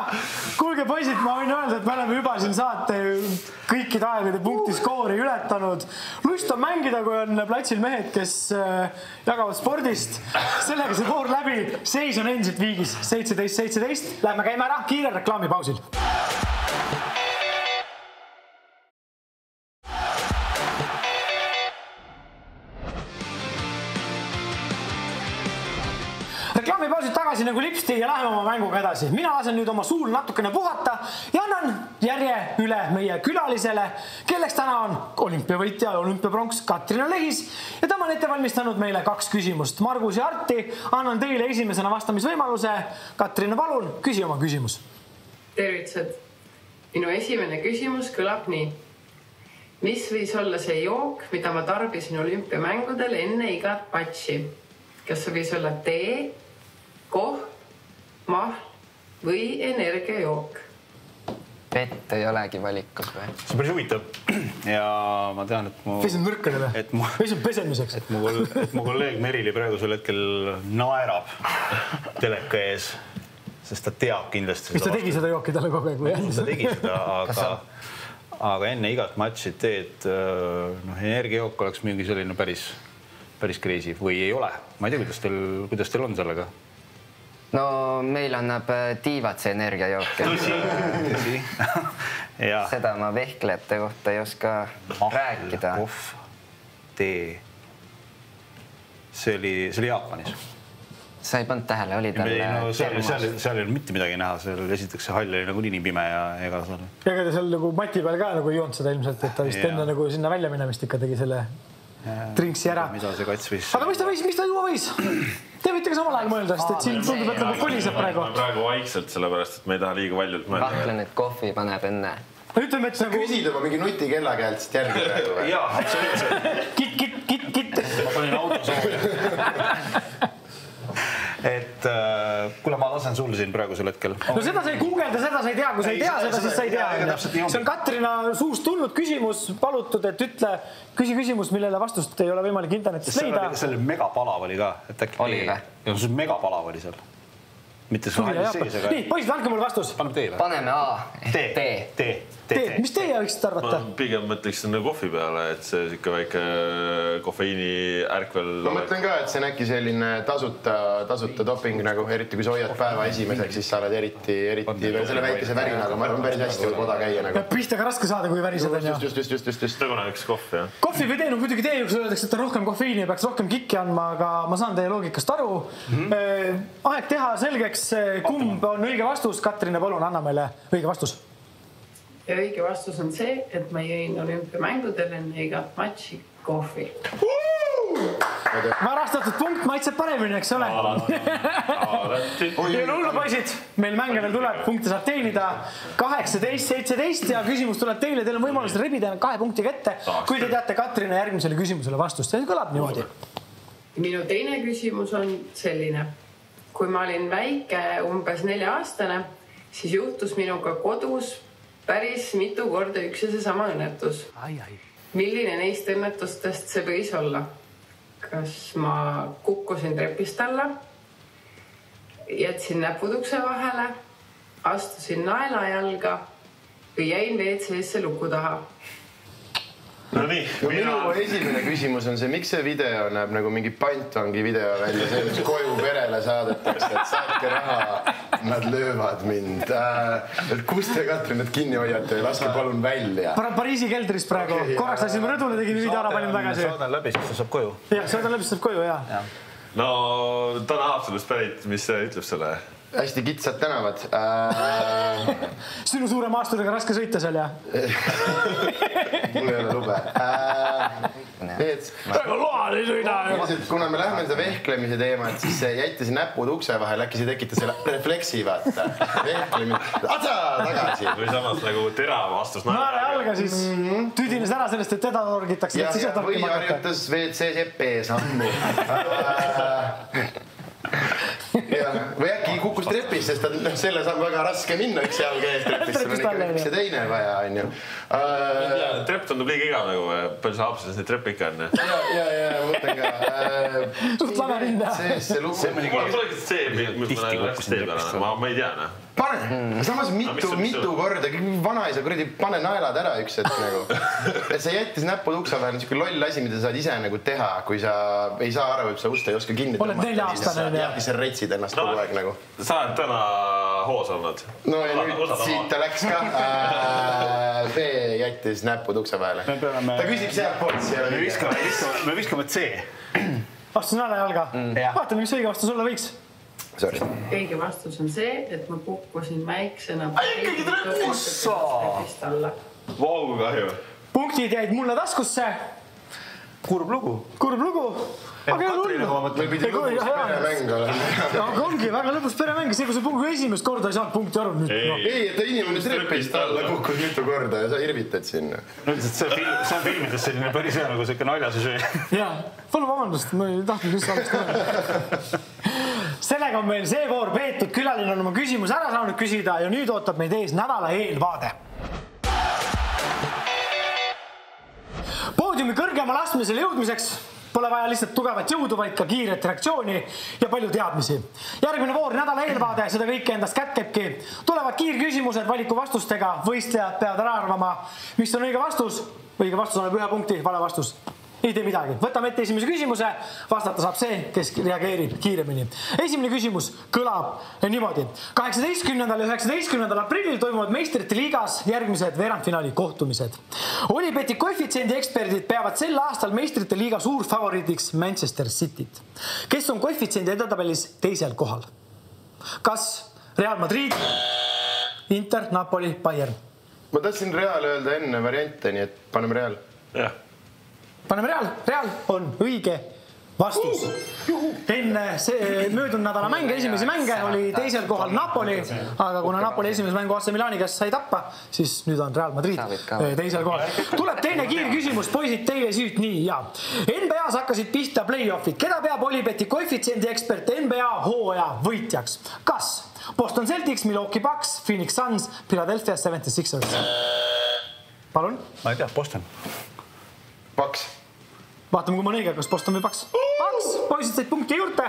Kuulge poisid, ma võin öelda, et me oleme juba siin saate kõikide aegade punkti skoori ületanud. Lust on mängida, kui on platsil mehed, kes jagavad spordist. Sellega see voor läbi. Seis on endiselt viigis seitseteist seitseteist. Lähme käime ära kiire reklaamipausil. Reklaamipausid tagasi nagu lipsti ja läheme oma mänguga edasi. Mina lasen nüüd oma suul natukene puhata ja annan järje üle meie külalisele, kelleks täna on olümpiavõitja ja olümpiapronks Katrina Lehis ja tema on ette valmistanud meile kaks küsimust. Margus ja Arti, annan teile esimesena vastamisvõimaluse. Katrina, palun, küsi oma küsimus. Tervitused. Minu esimene küsimus kõlab nii. Mis võis olla see jook, mida ma tarbisin olümpiamängudel enne igat matši? Kas see võis olla tee, koh, mahl või energiajook? Vett ei olegi valikus või? See on päris huvitav ja ma tean, et mu... Pesen nõrkadele? Pesen pesemiseks? Et mu, et mu kolleeg Merili praegusel hetkel naerab teleka ees, sest ta teab kindlasti seda. Mis ta tegi seda jooki talle kogu aeg või? Ta tegi seda, aga, aga enne igat matši teed no, energiajook oleks mingi selline päris... päris crazy või ei ole. Ma ei tea, kuidas teil, kuidas teil on sellega? No meil annab tiivad see energiajook. Tõsi, tõsi. Seda ma vehklejate kohta ei oska Ahl, rääkida. Kohv, tee. See oli, see oli Jaapanis. sa ei pannud tähele, oli tal no, seal, seal, seal ei olnud mitte midagi näha, seal esiteks see hall oli nagu nii pime ja ega seal... Ja ega ta seal nagu Mati peal ka nagu ei joonud seda ilmselt, et ta vist enne nagu sinna välja minemist ikka tegi selle trinksi ära. Mida see kats võis? Aga mis ta võis, mis ta juua võis? Te võite ka samal ajal mõelda, sest et siin tundub, et nagu koliseb praegu. Praegu vaikselt, sellepärast, et me ei taha liiga valjult mõelda. Kahtlen, et kohvi paneb enne. Ütleme, et nagu... Küsid oma mingi nutikella käelt siit järgi praegu või? Jaa, absoluutselt. Kit, kit, kit, kit. Ma panin auto soovi. Et äh, kuule, ma lasen sul siin praegusel hetkel. No seda sa ei guugelda, seda sa ei tea. Kui sa ei tea seda, siis sa ei tea. See on Katrina suust tulnud küsimus, palutud, et ütle küsi küsimus, millele vastust ei ole võimalik internetist leida. See oli megapalav oli ka. Oli või? See megapalav oli seal. Mitte see hallis sees, aga... Nii, poisid, andke mulle vastus. Paneme tee või? Paneme A. Tee. Tee. Tee. Mis teie võiksite arvata? Ma pigem mõtleks kohvi peale, et see siuke väike kofeiini ärkvel... Ma mõtlen ka, et see on äkki selline tasuta, tasuta doping, nagu eriti kui sa hoiad päeva esimeseks, siis sa oled eriti, eriti selle väikese värinaga. Ma arvan, päris hästi võib oda käia nagu. Pihta ka raske saada, kui värised on. Just, just, just, just, just. Nagu näiteks kohvi, jah? Kohvi või tee, no muidugi tee, kui öeldakse, et on rohkem kofeiini ja peaks rohkem kikki andma, aga ma saan teie loogikast aru. Aeg teha selgeks, kumb on õige vastus. Katrina, palun, anna meile õige vastus. Ja õige vastus on see, et ma jõin olümpiamängudel enne igat matši kohvi. Varastatud punkt maitseb paremini, eks ole? Ja hullu poisid, meil mänge veel tuleb, punkte saab teenida kaheksateist seitseteist ja küsimus tuleb teile. Teil on võimalus rebida kahe punkti kätte, kui te teate Katrina järgmisele küsimusele vastust. See kõlab niimoodi. Minu teine küsimus on selline. Kui ma olin väike, umbes nelja aastane, siis juhtus minuga kodus päris mitu korda üks ja see sama õnnetus. Ai, ai. Milline neist õnnetustest see võis olla? Kas ma kukkusin trepist alla, jätsin näpud ukse vahele, astusin naela jalga või jäin W C-sse luku taha? No nii, no minu mina... esimene küsimus on see, miks see video näeb nagu mingi pantvangi video välja, see mis koju perele saadetakse, et saatke raha, nad löövad mind. Et kus te Katrin need kinni hoiate ja laske palun välja. Pariisi keldris praegu. Okay, korraks lasime rõdule, tegime video ära, panin tagasi. Saadan läbi, siis ta saab koju. Jah, saadan läbi, siis saab koju, jah. Ja. No ta on Haapsalust pärit, mis ütleb selle? Hästi kitsad tänavad. Äh... Sinu suure maasturiga raske sõita seal, jah? Mul ei ole lube. Äh... Praegu loal ei sõida. Kuna me lähme seda vehklemise teema, et siis jättisin näpud ukse vahel, äkki see tekitas selle refleksi, vaata. Vehklemine. Atsa, tagasi. Või samas nagu terav vastus. Naare jalga siis tüdines ära sellest, et teda torgitakse. Ja, ja või harjutas W C seppe sammu. Ja, või äkki kukkus trepis, sest ta, selle saab väga raske minna üks jalg ees trepis, sul on ikka üks ja teine vaja, on ju. Uh, trepp tundub liiga igav nagu, palju sa Haapsades neid treppe ikka on? Ja, ja, ja, ma mõtlen ka. Uh, Suht lame rinda. See, see lugu. Mul polegi see, mis ma läks tee peale, ma, ma ei tea, ne? Pane, samas mitu, mitu korda, vanaisa kuradi, pane naelad ära üks hetk nagu. Et sa jättis näpud uksa vahel, niisugune loll asi, mida saad ise nagu teha, kui sa ei saa aru, et sa ust ei oska kinni tõmmata. Oled nelja aastane. Ja siis sa retsid ennast kogu aeg nagu. Sa oled täna hoos olnud. No ja nüüd siit ta läks ka. B jättis näpud ukse vahele. Ta küsib sealt poolt. Me viskame C. Vastus naela jalga. Vaatame, mis õige vastus olla võiks. Sorry. Õige vastus on see, et ma kukkusin väiksena. Ai, ikkagi trepust! Vau, kahju. Punktid jäid mulle taskusse. Kurb lugu. Kurb lugu. Aga ei Meil pidi lõbus peremäng olema. Aga ongi väga lõbus peremäng. See, kui sa punkt esimest korda ei saanud punkti aru. Ei, et inimene trepist alla kukkus mitu korda ja sa irvitad sinna. See on filmides selline päris hea nagu selline naljasüsöö. Jaa, palun vabandust, ma ei tahtnud just alust öelda. Sellega on meil see voor peetud, külaline on oma küsimus ära saanud küsida ja nüüd ootab meid ees nädala eelvaade. Poodiumi kõrgemale astmisele jõudmiseks pole vaja lihtsalt tugevat jõudu, vaid ka kiiret reaktsiooni ja palju teadmisi. Järgmine voor nädala eelvaade, seda kõike endast kätkebki. Tulevad kiirküsimused valiku vastustega, võistlejad peavad ära arvama, mis on õige vastus. Õige vastus on ühe punkti, vale vastus ei tee midagi. Võtame ette esimese küsimuse, vastata saab see, kes reageerib kiiremini. Esimene küsimus kõlab niimoodi. kaheksateistkümnendal ja üheksateistkümnendal aprillil toimuvad meistrite liigas järgmised veerandfinaali kohtumised. Olibeti koefitsiendi eksperdid peavad sel aastal meistrite liiga suur favoriidiks Manchester Cityt, kes on koefitsiendi edetabelis teisel kohal. Kas Real Madrid, Inter, Napoli, Bayern? Ma tahtsin Real öelda enne variante, nii et paneme Real. Jah. Paneme Real. Real on õige vastus. Enne möödunud nädala mänge, esimesi mänge oli teisel kohal Napoli, aga kuna Napoli esimese mängu A C Milani käest sai tappa, siis nüüd on Real Madrid teisel kohal. Tuleb teine kiir küsimus, poisid, teile süüt nii ja. N B A-s hakkasid pihta play-offid. Keda peab Olibeti koefitsiendi ekspert N B A hooaja võitjaks? Kas Boston Celtics, Milwaukee Bucks, Phoenix Suns, Philadelphia seventy-sixers? Palun? Ma ei tea, Boston. Bucks. Vaatame, kui ma on õige, kas Boston või Bucks. Bucks, poisid said punkti juurde.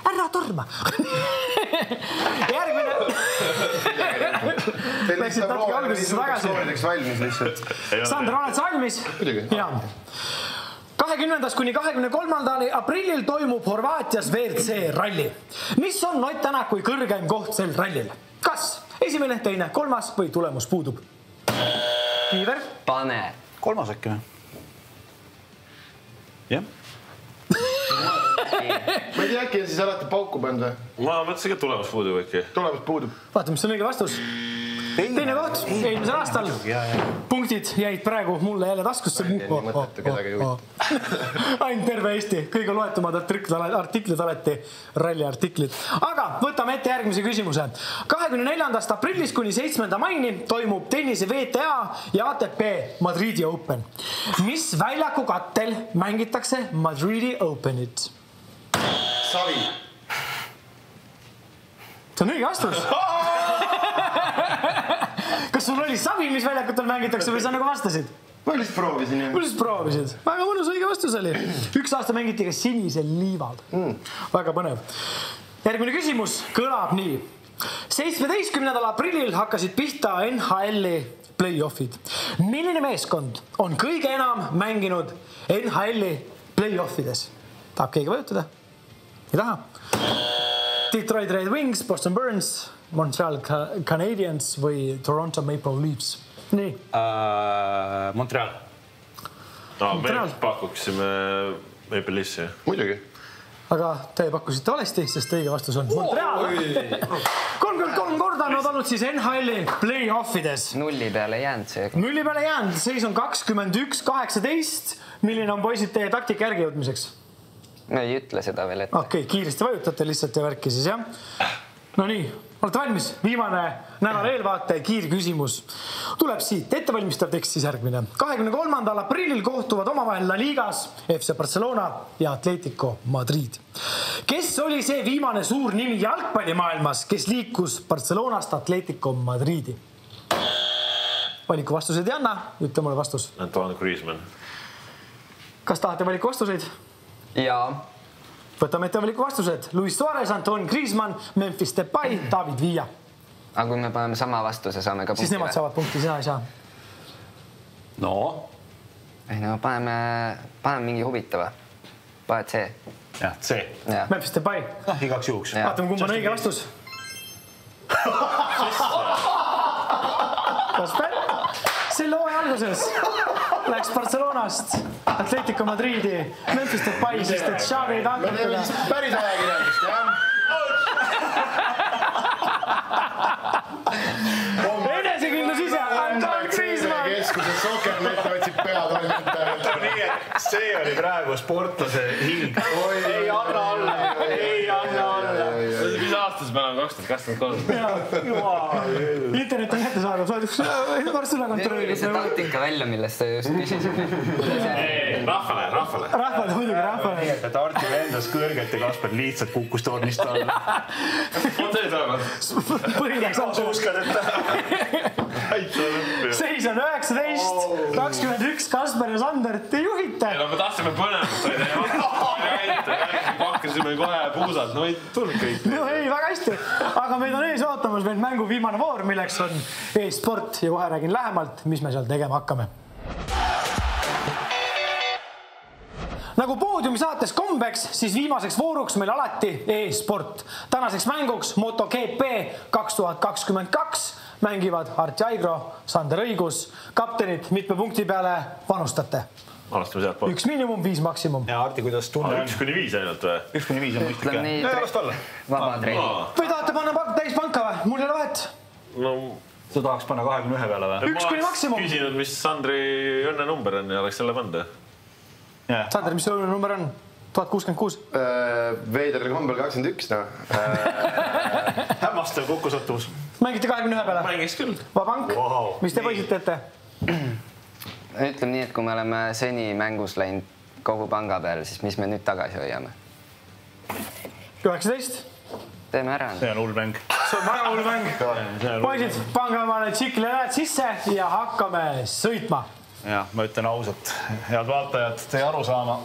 Ära torma. Järgmine. Läksid natuke algusesse tagasi. Sander, oled sa valmis? Jaa. kahekümnendast kuni kahekümne kolmandal aprillil toimub Horvaatias V R C ralli. Mis on Ott Tänakui kõrgem koht sel rallil? Kas esimene, teine, kolmas või tulemus puudub? Kiiver? Pane. Kolmas äkki või? Jah. Ma ei tea, äkki on siis alati pauku pannud või? Ma mõtlesin, et tulemus puudub äkki. Tulemus puudub. Vaata, mis on õige vastus. Teine koht, eelmisel aastal. Punktid jäid praegu mulle jälle taskusse. Ainult terve Eesti, kõige loetumad artiklid alati, ralli artiklid. Aga võtame ette järgmise küsimuse. kahekümne neljandast aprillist kuni seitsmenda maini toimub tennise V T A ja A T P Madridi Open. Mis väljaku kattel mängitakse Madridi Openit? Savi. See on õige vastus. Kas sul oli savi, mis väljakutel mängitakse või sa nagu vastasid? Ma lihtsalt proovisin. Ma lihtsalt proovisid. Väga mõnus õige vastus oli. Üks aasta mängiti ka sinisel liival. Mm. Väga põnev. Järgmine küsimus kõlab nii. seitsmeteistkümnendal aprillil hakkasid pihta N H L-i play-offid. Milline meeskond on kõige enam mänginud N H L-i play-offides? Tahab keegi vajutada? Ei taha? Detroit Red Wings, Boston Burns, Montreal Canadiens või Toronto Maple Leafs? Nii. Uh, Montreal. No, Montreal. Me pakuksime Maple Leafsi. Muidugi. Aga te pakkusite valesti, sest õige vastus on Montreal. kolmkümmend kolm korda on olnud siis N H L-i play-offides. Nulli peale jäänud see. Nulli peale jäänud. Seis on kakskümmend üks kaheksateist. Milline on poisid teie taktika järgi jõudmiseks? Me ei ütle seda veel ette. Okei, okay, kiiresti vajutate lihtsalt ja värki siis, jah? No nii, olete valmis? Viimane nädal eelvaate kiir küsimus. Tuleb siit ettevalmistav tekst siis järgmine. kahekümne kolmandal aprillil kohtuvad omavahel La Ligas F C Barcelona ja Atletico Madrid. Kes oli see viimane suur nimi jalgpallimaailmas, kes liikus Barcelonast Atletico Madridi? Valiku vastused ei anna, ütle mulle vastus. Antoine Griezmann. Kas tahate valiku vastuseid? Jaa. Võtame ette valiku vastused. Luis Suarez, Antoine Griezmann, Memphis Depay, David Villa. Aga kui me paneme sama vastuse, saame ka punkti. Siis nemad saavad punkti, sina ei saa. No? Ei, no paneme, paneme mingi huvitava. Paned C. Jah, C. Ja. Memphis Depay. No, igaks juhuks. Vaatame, kumb on õige vastus. Kasper? Selle hooaja alguses läks Barcelonast Atletico Madridi Memphis Depay, sest et Xavi ei tahtnud Me teeme siis päris ajakirjandust, jah? Enesekindlus ise, Antoine Griezmann. Keskuses Sokernet otsib peatoimetajalt. Nii, et see oli praegu sportlase hing. Ei anna alla, ei anna alla. Mis aastas me oleme kaks tuhat kakskümmend kolm? Internet on kätte saadab, saadab varsti üle kontrolli. See taktika välja, millest te just küsisid. Rahvale, rahvale. Rahvale, muidugi rahvale. Nii, et Arti vendas kõrget ja Kasper lihtsalt kukkus tornist alla. On see saanud? Põhiläks all. Uskad, et Seis on üheksateist, kakskümmend üks, Kasper ja Sander, te juhite. No me tahtsime põnevust, pakkasime kohe puusad, no ei tulnud kõik. No ei, väga hästi, aga meid on ees ootamas veel mängu viimane voor, milleks on e-sport ja kohe räägin lähemalt, mis me seal tegema hakkame. nagu poodiumi saates kombeks, siis viimaseks vooruks meil alati e-sport. Tänaseks mänguks MotoGP kaks tuhat kakskümmend kaks mängivad Arti Aigro, Sander Õigus. Kaptenid mitme punkti peale panustate? Alastame sealt poolt. Üks miinimum, viis maksimum. Ja Arti, kuidas tunne on? Üks kuni viis ainult või? Üks kuni viis on mõistlik. Ja vast olla. Vaba treeni. Või tahate panna täis panka või? Mul ei ole vahet. No, sa tahaks panna kahekümne ühe peale või? Üks kuni maksimum. Ma oleks küsinud, mis Sandri õnne number on ja oleks selle panda. Sander, mis õnne number on? tuhat kuuskümmend kuus. Veiderdel kombel kakskümmend üks, no. Hämmastav kokkusattumus. Mängite kahekümne ühe peale? Mängiks küll. Vabank? Mis te poisid teete? Ütleme nii, et kui me oleme seni mängus läinud kogu panga peal, siis mis me nüüd tagasi hoiame? üheksateist. Teeme ära. See on hull mäng. See on väga hull mäng. Poisid, pange omale tsikli näed sisse ja hakkame sõitma. Ja, ma ütlen ausalt, head vaatajad, te ei aru saama.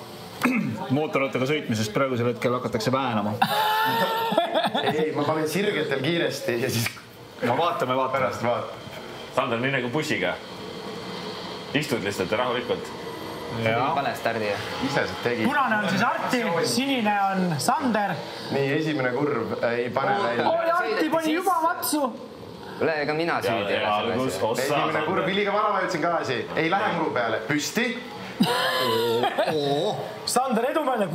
Mootorrattaga sõitmisest praegusel hetkel hakatakse väänama. Ei, ma panen sirgetel kiiresti ja siis no vaatame, vaatame. Pärast vaat. Sander, nii nagu bussiga. Istud lihtsalt rahulikult. Pane stardi. Ise see tegi. Punane on siis Arti, sinine on Sander. Nii, esimene kurv ei pane välja. Oi, Arti pani juba matsu. Ole, ega mina süüdi ole selles. Esimene kurv, iliga vana vajutsin gaasi. Ei lähe muru peale. Püsti. Sander edumeelne,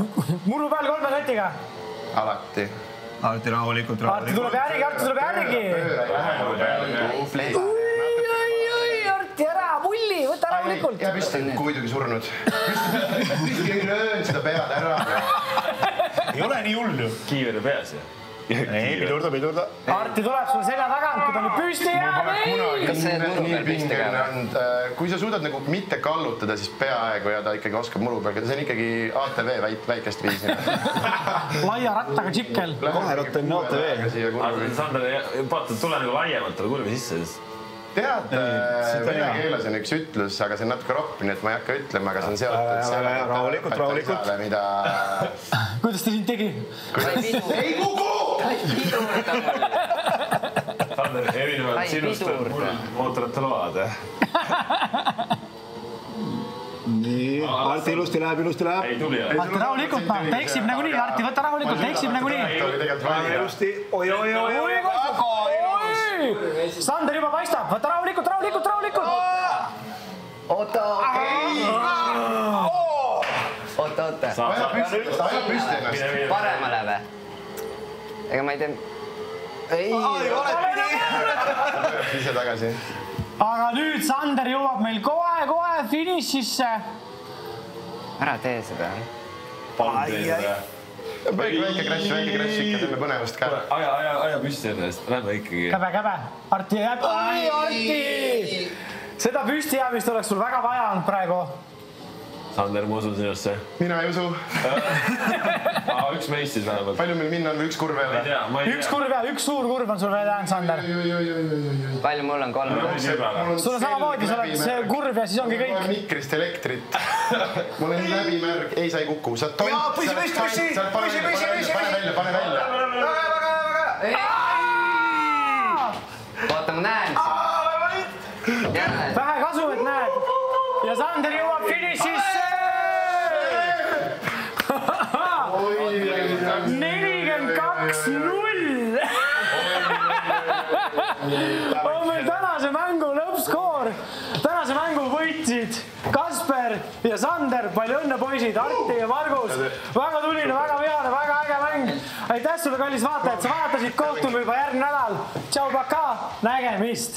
muru peal kolme katiga. Alati. Arti rahulikult, Arti tuleb järgi, Arti tuleb järgi. Arti ära, mulli, võta rahulikult. Ja püsti, kuidagi surnud. Püsti ei löön seda pead ära. Ei ole nii hull ju. Kiiveri peas ju. Ei, pidurda, pidurda. Arti tuleb sulle selja tagant, kui ta nüüd püsti jääb. Kas see muru peal püsti käib? Kui sa suudad nagu mitte kallutada, siis peaaegu ja ta ikkagi oskab muru peal. See on ikkagi A T V väikest viisi. Laia rattaga tšikkel. Kahe ratta on A T V. Sander, vaata, tule nagu laiemalt tule kurvi sisse. Tead, vene keeles on üks ütlus, aga see on natuke ropp, nii et ma ei hakka ütlema, aga see on seotud. Rahulikult, rahulikult. Kuidas ta sind tegi? Ei kuku! Sander, erinevalt sinust mootorite load. Nii, Arti ilusti läheb, ilusti läheb. Ei tuli. Arti rahulikult, ta eksib nagu nii, Arti võta rahulikult, ta eksib nagu nii. Ilusti, oi, oi, oi, oi. Sander juba paistab, võta rahulikult, rahulikult, rahulikult. Oota, okei. Oota, oota. Aja püsti ennast. Paremale või? Ega ma ei tee... Ei. Ise tagasi. Aga nüüd Sander jõuab meil kohe-kohe finišisse. Ära tee seda. Palun tee seda. Väike crash, väike crash ikka, teeme põnevast ka. Aja, aja, aja püsti ennast, lähme ikkagi. Käbe, käbe. Arti jääb. Ai, Arti! Seda püsti jäämist oleks sul väga vaja olnud praegu. Sander, ma usun sinusse. Mina ei usu. Üks meist siis vähemalt. Palju meil minna on või üks kurv veel? Üks kurv ja üks suur kurv on sul veel jäänud, Sander. Palju mul on kolm? Sul on samamoodi, sa oled see kurv ja siis ongi kõik. Mul on mikrist elektrit. Mul on läbimärg. Ei, sa ei kuku. Sa tont. Jaa, püsi, püsi, püsi. Püsi, püsi, püsi. Pane välja, pane välja. Väga, väga, väga. Vaata, ma näen sind. Vähe kasu, et näed. Ja Sander jõuab finišisse. nelikümmend kaks null. On meil tänase mängu lõppskoor. Tänase mängu võitsid Kasper ja Sander. Palju õnne, poisid, Arti ja Margus. Väga tuline, väga vihane, väga äge mäng. Aitäh sulle, kallis vaatajad, sa vaatasid, kohtume juba järgmine nädal. Tšau, paka, nägemist.